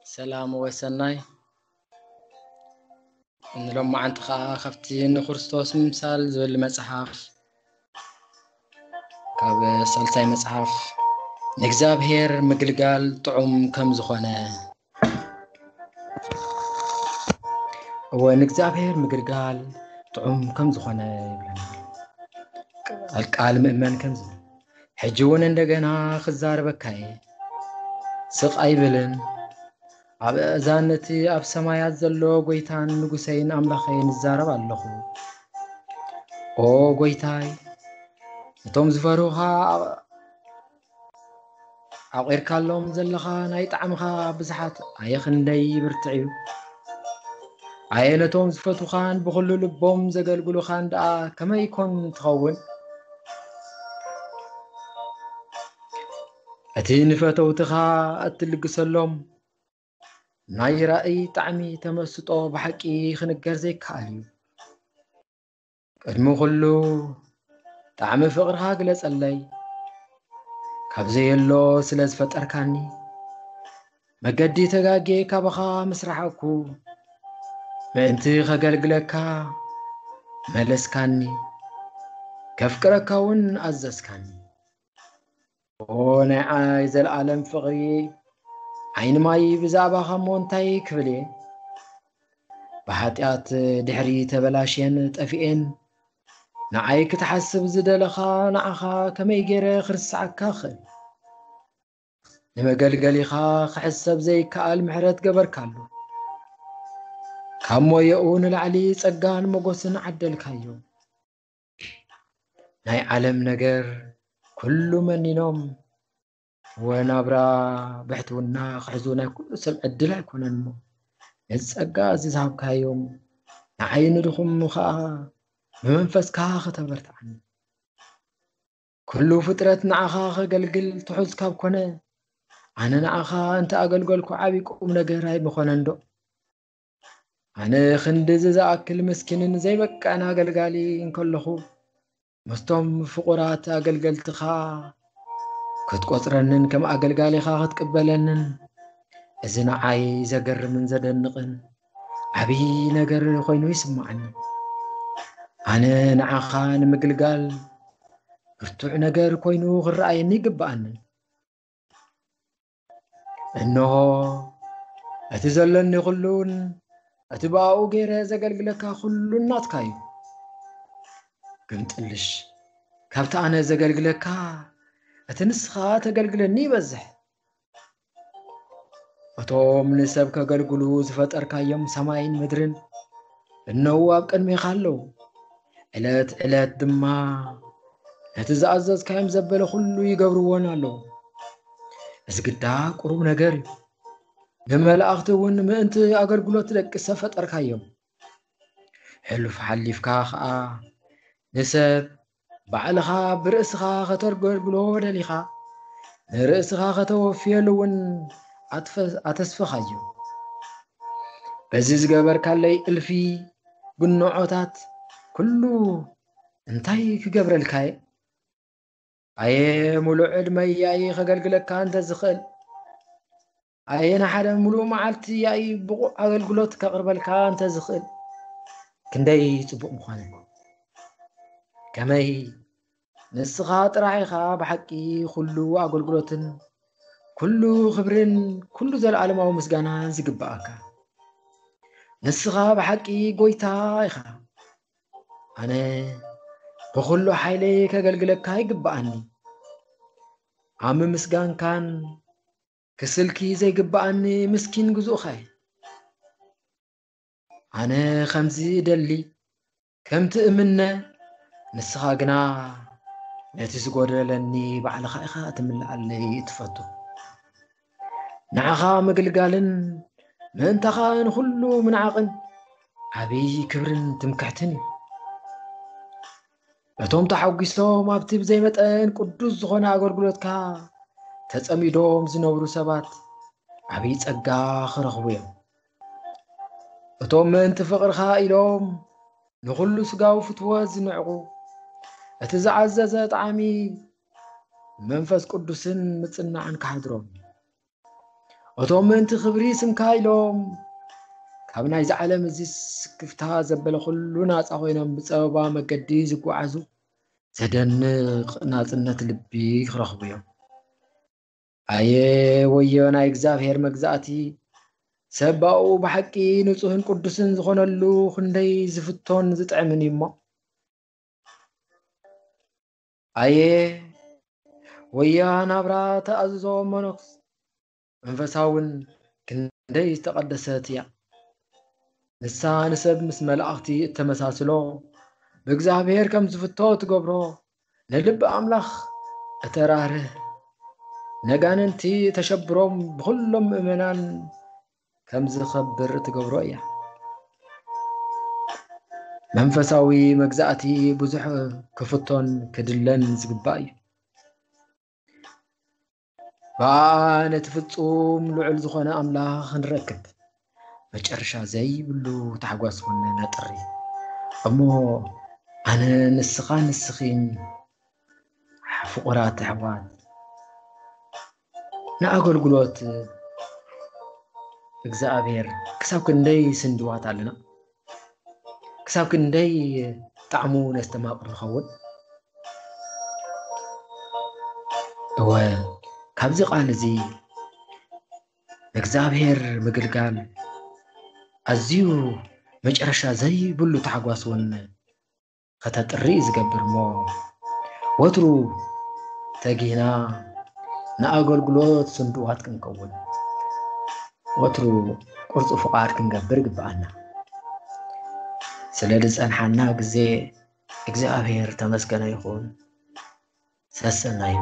ሰላም ወሰናይ። ንሎማዓንቲ ኸዓ ካብቲ ንክርስቶስ ምምሳል ዝብል መጽሓፍ ካብ ሳልሳይ መጽሓፍ ንእግዚኣብሔር ምግልጋል ጥዑም ከም ዝኾነ፣ እወ ንእግዚኣብሔር ምግልጋል ጥዑም ከም ዝኾነ ይብለና። ቃል ቃል ምእመን ከም ዝብል ሕጂ እውን እንደገና ክዛረበካ እየ። ስቕ ኣይብልን። ኣብ ኣእዛን እቲ ኣብ ሰማያት ዘሎ ጐይታን ንጉሰይን ኣምላኸይን እዛረብ ኣለኹ። ኦ ጐይታይ፣ ነቶም ዝፈርሁኻ ኣቕ-፣ ኣቑርካሎም ዘለኻ ናይ ጣዕምኻ ብዝሓት ኣየ ክንደይ ብርትዕ እዩ። ኣየ ነቶም ዝፈትዉኻን ብኹሉ ልቦም ዘገልግሉኻን ደኣ ከመይ ኮን ትኸውን? እቲ ንፈተውትኻ እትልግሰሎም ናይ ራእይ ጣዕሚ ተመስጦ ብሓቂ ክንገር ዘይከኣል እዩ። ቅድሚ ኩሉ ጣዕሚ ፍቕርኻ ግለጸለይ። ካብ ዘየሎ ስለ ዝፈጠርካኒ፣ መገዲ ተጋጌ ካባኻ ምስ ረሓቕኩ፣ ምእንቲ ከገልግለካ መለስካኒ፣ ከፍቅረካ እውን ኣዘዝካኒ። ኦ ናይ ዓይ ዘለኣለም ፍቕሪ፣ ዓይኒ ማይ ብዛዕባኻ እሞ እንታይ ክብል እየ? ብሓጢኣት ድሕሪ ተበላሽየን ጠፊኤን፣ ንዓይ ክትሓስብ ዝደለኻ ንዓኻ ከመይ ገይረ ክርስዓካ እኽእል? ንመገልገሊኻ ክሕሰብ ዘይከኣል ምሕረት ገበርካሉ። ካብ ሞየኡ ንላዕሊ ጸጋን ሞገስን ዓደልካዮ። ናይ ዓለም ነገር ኩሉ መኒኖም፣ ወናብራ ብሕትውና ክሕዙ ናይ ኩሉ ሰብ ዕድል ኣይኮነን እሞ፣ ነዚ ጸጋ እዚ ዝሃብካዮም ንዓይ ንድኹም ኸኣ ብመንፈስካ ከተበርትዓኒ። ኩሉ ፍጥረት ንዓኻ ከገልግል ትሑዝ ካብ ኮነ፣ ኣነ ንዓኻ እንተ ኣገልገልኩ ዓቢ ቁም ነገር ኣይምኾነን ዶ? ኣነ ክንድዚ ዝኣክል ምስኪንን ዘይበቅዕን ኣገልጋሊ እንከለኹ፣ ምስቶም ፍቑራት ኣገልገልትኻ ክትቆጽረንን ከም ኣገልጋሊኻ ክትቅበለንን፣ እዚ ንዓይ ዘገርምን ዘደንቕን ዓብዪ ነገር ኮይኑ ይስምዓኒ። ኣነ ንዓኻ ንምግልጋል ብርቱዕ ነገር ኮይኑ ክረኣየኒ ይግብኣኒ። እንሆ፣ እቲ ዘለኒ ኩሉን እቲ ብኣኡ ገይረ ዘገልግለካ ኩሉን ናትካ እዩ። ግምጥልሽ፣ ካብቲ ኣነ ዘገልግለካ፣ እቲ ንስኻ ተገልግለኒ ይበዝሕ። እቶም ንሰብ ከገልግሉ ዝፈጠርካዮም ሰማይን ምድርን እነዉ ኣብ ቅድሜኻ ኣለዉ። ዕለት ዕለት ድማ ነቲ ዝኣዘዝካዮም ዘበለ ኩሉ ይገብርዎን ኣለዉ። እዚ ግዳ ቁሩብ ነገር እዩ። ንመላእኽቲ እውን ምእንቲ ኣገልግሎት ደቂ ሰብ ፈጠርካዮም። ሕሉፍ ሓሊፍካ ኸኣ ንሰብ ባዕልኻ ብርእስኻ ከተገልግሎ ደሊኻ፣ ንርእስኻ ከተወፍየሉ እውን ኣትፈ-፣ ኣተስፈኻዮ። በዚ ዝገበርካለይ እልፊ ጉንዖታት ኩሉ እንታይ ክገብረልካ እየ? ኣየ፣ ሙሉእ ዕድመይ ያኢ ከገልግለካ እንተ ዝኽእል፣ ኣየ፣ ንሓደ ሙሉእ መዓልቲ ያኢ ብቑዕ ኣገልግሎት ከቕርበልካ እንተ ዝኽእል፣ ክንደይ ጽቡቕ ምኾነ። ከመይ ንስኻ ጥራሕ ኢኻ ብሓቂ ኩሉ ኣገልግሎትን ኩሉ ክብርን ኩሉ ዘለኣለማዊ ምስጋናን ዝግብኣካ። ንስኻ ብሓቂ ጎይታ ኢኻ። ኣነ ብኹሉ ሓይለይ ከገልግለካ ይግብኣኒ። ኣብ ምምስጋንካን ክስልኪ ዘይግብኣኒ ምስኪን ግዙእኻ እየ። ኣነ ከምዚ እደሊ፣ ከምቲ እምነ፣ ንስኻ ግና ነቲ ዝጎደለኒ ባዕልኻ ኢኻ እትምልኣለይ እትፈቱ። ንዓኻ ምግልጋልን ምእንታኻ ንኹሉ ምንዓቕን ዓብዪ ክብርን ትምክሕትን እዩ። እቶም ተሓጒሶም ኣብቲ ብዘይ መጠን ቅዱስ ዝኾነ ኣገልግሎትካ ተጸሚዶም ዝነብሩ ሰባት ዓብዪ ጸጋ ክረኽቡ እዮም። እቶም ምእንቲ ፍቕርኻ ኢሎም ንኹሉ ስጋዊ ፍትወት ዝንዕቑ፣ እቲ ዝዓዘዘ ጣዕሚ መንፈስ ቅዱስን ምጽናዕን ክሓድሮም እዩ። እቶም ምእንቲ ክብሪ ስምካ ኢሎም ካብ ናይዚ ዓለም እዚ ስክፍታ ዘበለ ኩሉ ናጻ ኮይኖም ብጸበባ መገዲ ዝጓዓዙ ዘደንቕ ናጽነት ልቢ ክረኽቡ እዮም። ኣየ ወዮ ናይ እግዚኣብሔር መግዛእቲ! ሰብ ብኣኡ ብሓቂ ንጹህን ቅዱስን ዝኾነሉ ክንደይ ዝፍቶን ዝጥዕምን እዩ እሞ። ኣየ ወያ ናብራ ተኣዝዞ መነኩስ መንፈሳውን ክንደይ ዝተቐደሰት እያ። ንሳ ንሰብ ምስ መላእኽቲ እተመሳስሎ፣ ብእግዚኣብሔር ከም ዝፍቶ ትገብሮ፣ ንልቢ ኣምላኽ እተራርህ፣ ነጋንንቲ እተሸብሮም ብኹሎም ምእመናን ከም ዝኸብር እትገብሮ እያ። መንፈሳዊ መግዛእቲ ብዙሕ ክፍቶን ክድለን ዝግባእ እዩ። ብኣ ነቲ ፍጹም ልዑል ዝኾነ ኣምላኽ ንረክብ። መጨረሻ ዘይብሉ ታሕጓስ እውን ነጥሪ። እሞ ኣነ ንስኻ ንስኺን ፍቑራት ኣሕዋት ንኣገልግሎት እግዚኣብሔር ክሳብ ክንደይ ስንድዋት ኣለና? ክሳብ ክንደይ ጣዕሙ ነስተማቕር ንኸውን? እወ፣ ካብዚ ቃል እዚ ንእግዚኣብሔር ምግልጋል ኣዝዩ መጨረሻ ዘይብሉ ታሕጓስ እውን ከተጥሪ እዩ ዝገብር እሞ፣ ወትሩ ተጊህና ንኣገልግሎት ስንድዋት ክንከውን፣ ወትሩ ቅርጹ ፍቓድ ክንገብር ይግብኣና። ስለ ዝጸንሓና ግዜ እግዚኣብሔር ተመስገነ ይኹን። ሰሰናዩ።